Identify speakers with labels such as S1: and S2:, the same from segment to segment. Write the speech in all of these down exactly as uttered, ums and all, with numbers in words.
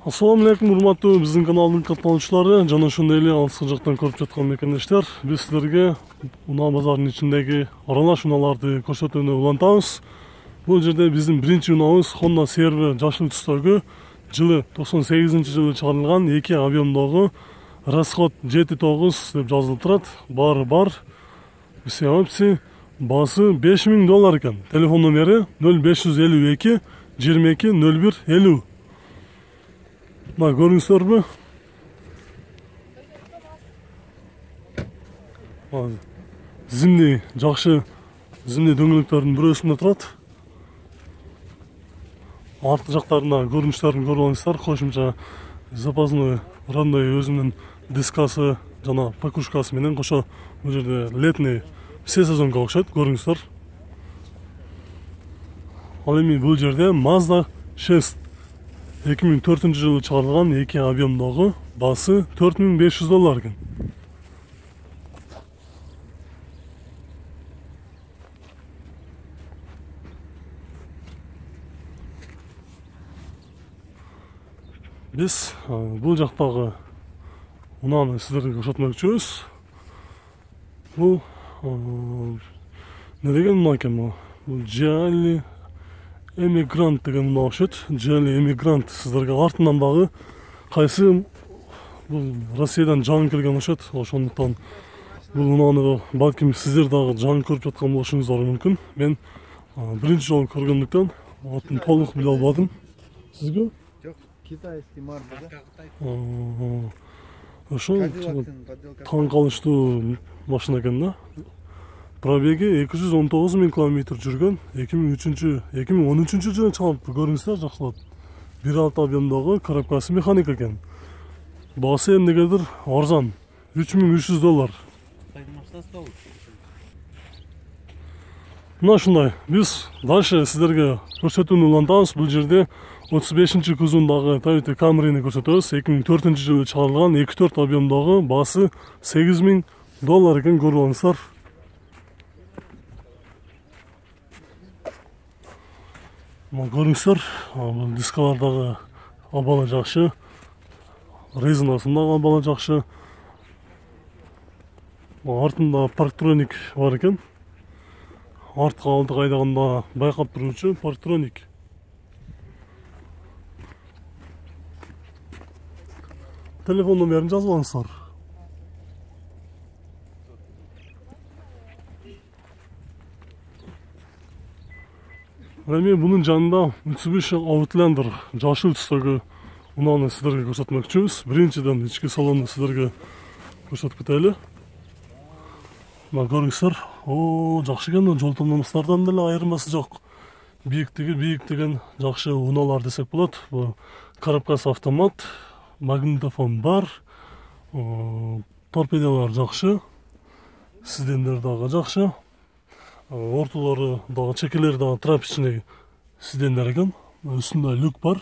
S1: Assalamu alaikum, урматтуу биздин каналдын катталуучулары жана ошондой эле алыскы жактан көрүп жаткан мекендештер. Биз силерге унаа базарынын ичиндеги аралаш унааларды көрсөтүүнү улантабыз. Бул жерде биздин биринчи унаабыз Honda C R V жашыл түстөгү жылы токсон сегизинчи жылы чыгарылган эки объемдогу расход жети тогуз деп жазылып турат. Баары бар. Все опции. Баасы беш миң доллар экен. Телефон номери нөл беш жүз элүү эки жыйырма эки нөл бир элүү. Мына көрүңүздөрбү? Зимний жакшы зимний дөңгөлөктөрдүн бирөөсүндө турат. Арткы жактарына көрүнүштөрүн көрүп алыңыздар. Кошумча запасной родной өзүнүн дискасы жана покушкасы менен кошо бул жерде летний все сезонго окшойт, көрүңүздөр. Ал эми бул жерде Mazda шесть эки миң төртүнчү жылы чыгарылган эки объемдогу, баасы төрт миң беш жүз доллар экен. Биз бул жактагы унааны сиздерге көрсөтмөкчүбүз. Бул не деген унаа экен бул? Бул Geely Emigrant деген унаа окшойт. Geely Emigrant сиздерге артынан дагы кайсы бул Россиядан жаңы келген окшойт. Ошондуктан бул унааны балким сиздер дагы жаңы көрүп жаткан болушуңуздар мүмкүн. Мен биринчи жолу көргөндүктөн атын толук биле албадым. Сизге?
S2: Жок, китайский марка.
S1: Ошо таң калыштуу машина экен да. Пробеги эки жүз он тогуз миң километр жүргөн. эки миң үчүнчү эки миң он үчүнчү жылы чыгарылыптыр, көрүңүздөр жакшылап. бир алты объемдогу коробкасы механик экен. Баасы эмнегедир арзан, үч миң үч жүз доллар. Мына ушундай. Биз дальше сиздерге көрсөтүүнү улантабыз. Бул жерде отуз бешинчи кузовундагы Toyota Camry'ни көрсөтөбүз. эки миң төртүнчү жылы чыгарылган эки төрт объемдогу, баасы сегиз миң доллар экен, көрүп алыңыздар. Мына көрүңүздөр, бул дискалардагы абалы жакшы, резинасындагы абалы жакшы. Артында парктроник бар экен. Артка алдык айдаганда байкап туруучу парктроник. Телефон номерин жазып алыңыздар. Эми бунун жанында Mitsubishi Outlander жашыл түстөгү унааны сиздерге көрсөтмөкчүбүз. Биринчиден ички салонду сиздерге көрсөтүп кетели. Мына көрүңүздөр. О, жакшы экен, жол томномустардан деле айырмасы жок. Бийиктиги бийик деген жакшы унаалар десек болот. Бул коробкасы автомат, магнитофон бар, торпедалар жакшы, сидендер дагы жакшы. Ортолору дагы, чекелери дагы трапичный сидендер экен. Үстүндө люк бар,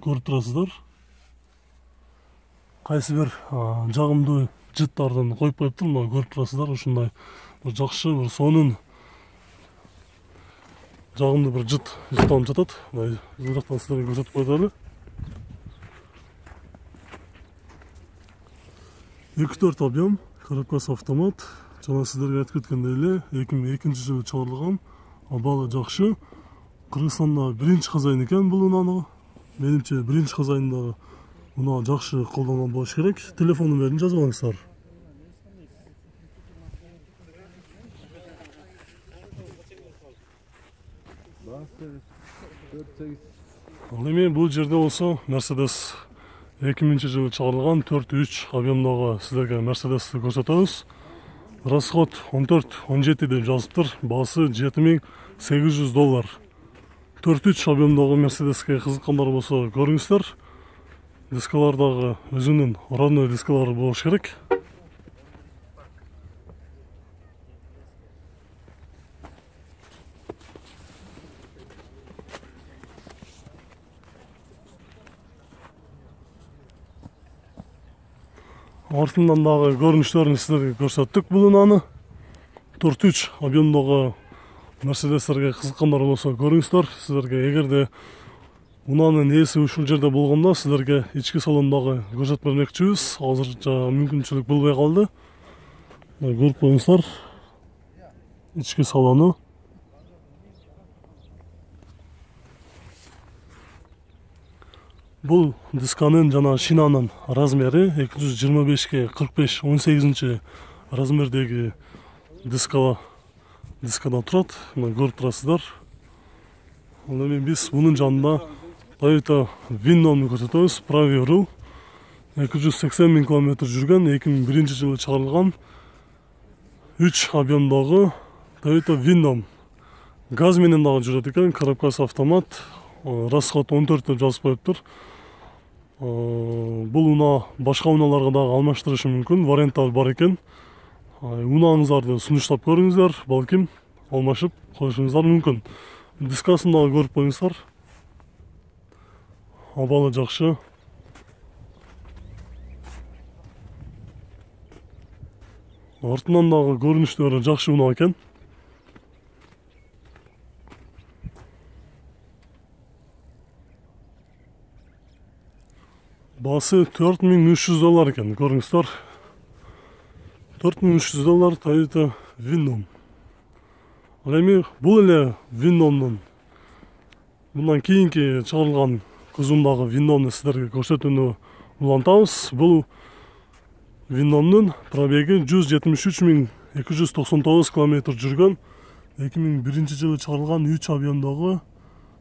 S1: көрүп турасыздар. Кайсы бир жагымдуу жыттардын коюп коюптур, мына көрүп турасыздар. Ушундай бир жакшы бир сонун жагымдуу бир жыт жытталып жатат. Бул жактан сиздерге көрсөтүп коелу. эки төрт объем, коробкасы автомат. Жана сиздерге айтып кеткендей эле эки миң экинчи жылы чыгарылган, абалы жакшы. Кыргызстанда биринчи хозяин экен бул унааны. Менимче биринчи хозяиндагы унаа жакшы колдонгон болуш керек. Телефон номерин жазып алыңыздар. Ал эми бул жерде болсо Mercedes эки миңинчи жылы чыгарылган төрт үч объемдогу сиздерге Mercedesти көрсөтөбүз. Расход он төрт он жети деп жазыптыр. Баасы жети миң сегиз жүз доллар. төрт үч объемдогу Mercedesке кызыккандар болсо көрүңүздөр. Дискалардагы өзүнүн родной дискалары болуш керек. Артынан дагы көрүнүштөрүн сиздерге көрсөттүк бул унааны. төрт үч объемдогу Mercedes'терге кызыккандар болсо көрүңүздөр. Сиздерге эгерде Унаанын ээси ушул жерде болгондо сиздерге ички салондогу көрсөтүп бермекчибиз. Азырча мүмкүнчүлүк болбой калды. Көрүп коюңуздар. Ички салону. Бул дисканын жана шинанын размери эки жүз жыйырма бешке кырк беш он сегизинчи размердеги диска дискада турат. Мына көрүп турасыздар. Ал эми биз мунун жанында Toyota Windom'u көрсөтөбүз. Pravia Rule эки жүз сексен миң километр жүргөн, эки миң биринчи жылы чыгарылган үч объемдогу Toyota Windom. Газ менен дагы жүрөт экен, коробкасы автомат, расход он төрт деп жазып коюптур. Бул унаа башка унааларга дагы алмаштырышы мүмкүн, варианттар бар экен. Унааңыздарды сунуштап көрүңүздөр, балким алмашып коюшуңуздар мүмкүн. Дискасын дагы көрүп коюңуздар. Абалы жакшы. Артынан дагы көрүнүштөрү жакшы унаа экен. Басы төрт миң үч жүз доллар экен, көрүңүздөр. төрт миң үч жүз доллар Toyota Windom. Ал эми бул эле Windomдун мындан кийинки чыгарылган кузумдагы Windomду сиздерге көрсөтүүнү улантабыз. Бул Windomдун пробеги жүз жетимиш үч миң эки жүз токсон тогуз километр жүргөн, эки миң биринчи жылы чыгарылган үч объемдогу,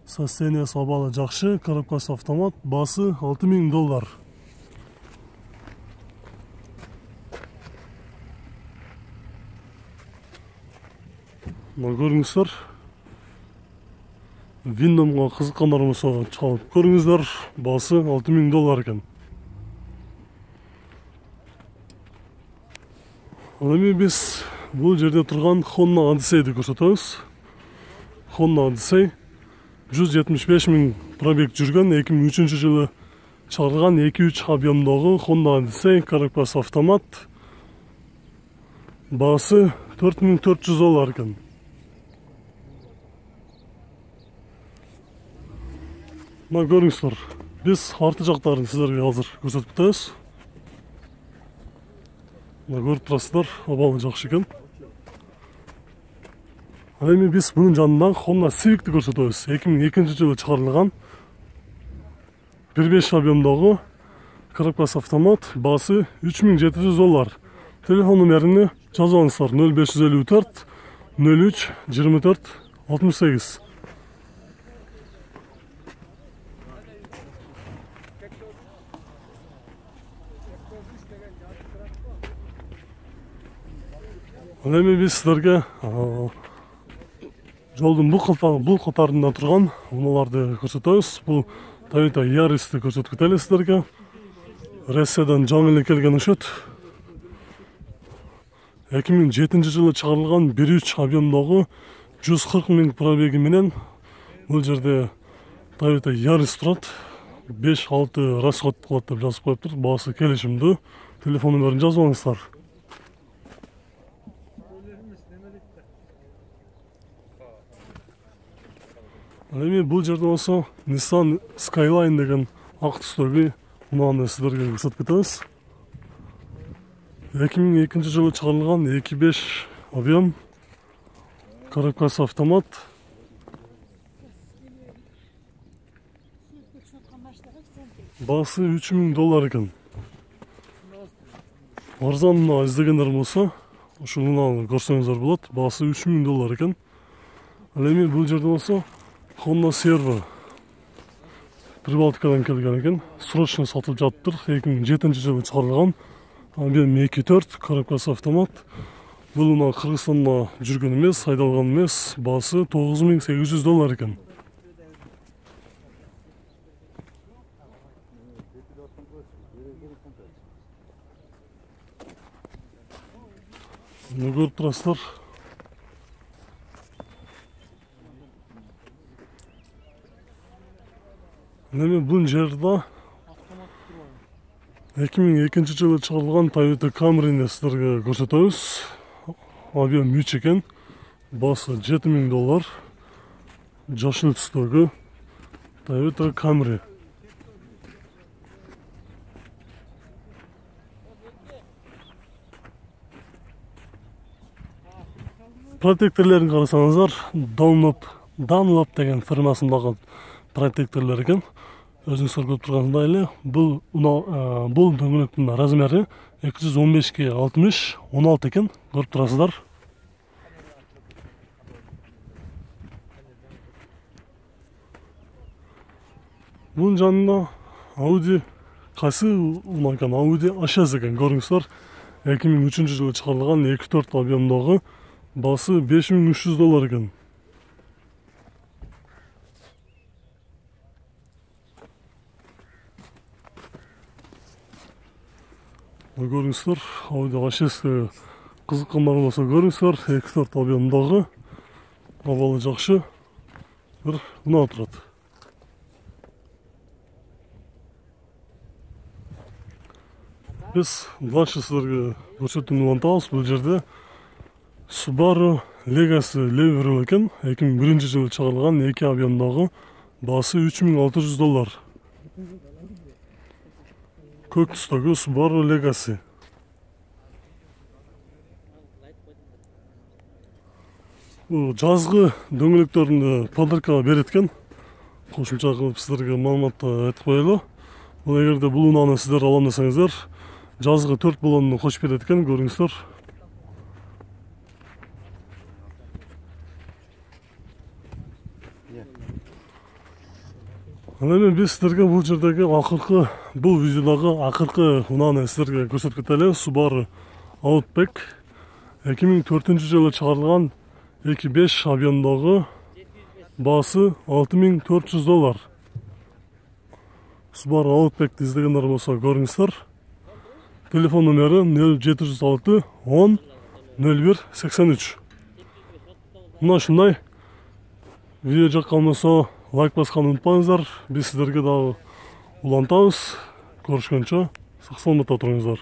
S1: состояниясы абалы жакшы, коробкасы автомат, басы алты миң доллар. Мына көрүңүздөр. Windom'га кызыккандар болсо чалып көрүңүздөр. Басы алты миң доллар экен. Ал эми биз бул жерде турган Honda Odyssey'ди көрсөтөбүз. Honda Odyssey жүз жетимиш беш миң пробег жүргөн, эки миң үчүнчү жылы чыгарылган эки үч объемдогу Honda Odyssey, коробкасы автомат. Басы төрт миң төрт жүз доллар экен. Мына көрүңүздөр. Биз арты жактарын сиздерге азыр көрсөтүп атабыз. Мына көрүп турасыздар, абалы жакшы экен. Ал эми биз мунун жанында Honda Civic'ти көрсөтөбүз. эки миң экинчи жылы чыгарылган бир беш объемдогу, коробкасы автомат, басы үч миң жети жүз доллар. Телефон номерини жазып алыңыздар: нөл беш жүз элүү төрт нөл үч жыйырма төрт алтымыш сегиз. Ал эми биз сиздерге жолдун бул бул катарында турган унааларды көрсөтөбүз. Бул Toyota Yaris'ти көрсөтүп кетели сиздерге. Россиядан жаңы эле келген окшойт. эки миң жетинчи жылы чыгарылган бир үч объемдогу жүз кырк миң пробеги менен бул жерде Toyota Yaris турат. беш алты расход кылат деп жазып коюптур. Баасы келишимдүү. Телефон номерин жазып алыңыздар. Ал эми бул жерде болсо Nissan Skyline деген ак түстөгү унааны сиздерге көрсөтүп кетебиз. эки миң экинчи жылы чыгарылган эки беш объем, коробкасы автомат. Басы үч миң доллар экен. Арзан унаа издегендер болсо ушул унааны көрсөңүздөр болот. Басы үч миң доллар экен. Ал эми бул жерде болсо Honda Servo Прибалтикадан келген экен. Срочно сатылып жатыптыр. эки миң жетинчи жылы чыгарылган. Объем эки төрт, коробкасы автомат. Бул унаа Кыргызстанда жүргөн эмес, айдалган эмес. Басы тогуз миң сегиз жүз доллар экен. Муну көрүп турасыздар. Эми бул жерде эки миң экинчи жылы чыгарылган Toyota Camry'ни сиздерге көрсөтөбүз. Объем үч экен. Басы жети миң доллар. Жашыл түстөгү Toyota Camry. Протекторлерин карасаңыздар, Dunlop, Dunlop деген фирмасындагы протекторлор экен. Өзүңүздөр көрүп тургандай эле, бул бул дөңгөлөктүн размери эки жүз он бешке алтымыш он алты экен, көрүп турасыздар. Bunun жанында Audi кайсы унакан Audi а шесть экен, көрүңүздөр. эки миң үчүнчү жылы чыгарылган эки төрт объемдогу, баасы беш миң үч жүз доллар экен. Көрүңүздөр, Audi а шесть кызыккандар болсо көрүңүздөр, эки төрт объемдогу, абалы жакшы бир унаа турат. Biz дальше силерге көрсөтүүнү улантабыз. Бул жерде Subaru Legacy Level экен, эки миң биринчи жылы чыгарылган эки объемдогу, баасы үч миң алты жүз доллар. Көк түстөгү Subaru Legacy. Бул жазгы дөңгөлөктөрүндө подаркага берет экен. Кошумча кылып силерге маалыматты айтып коелу. Бул эгерде бул унааны сиздер алам десеңиздер, жазгы төрт баллонну кошуп берет экен, көрүңүздөр. Анан эми биз сиздерге бул жердеги акыркы, бул видеодагы акыркы унааны сиздерге көрсөтүп кетели. Subaru Outback эки миң төртүнчү жылы чыгарылган эки беш объемдогу, баасы алты миң төрт жүз доллар. Subaru Outback'ти издегендер болсо көрүңүздөр. Телефон номери нөл жети жүз алты он нөл бир сексен үч. Мына ушундай. Видео жаккан болсо лайк басканды унутпаңыздар. Биз сиздерге дагы улантабыз. Көрүшкөнчө сак саламатта туруңуздар.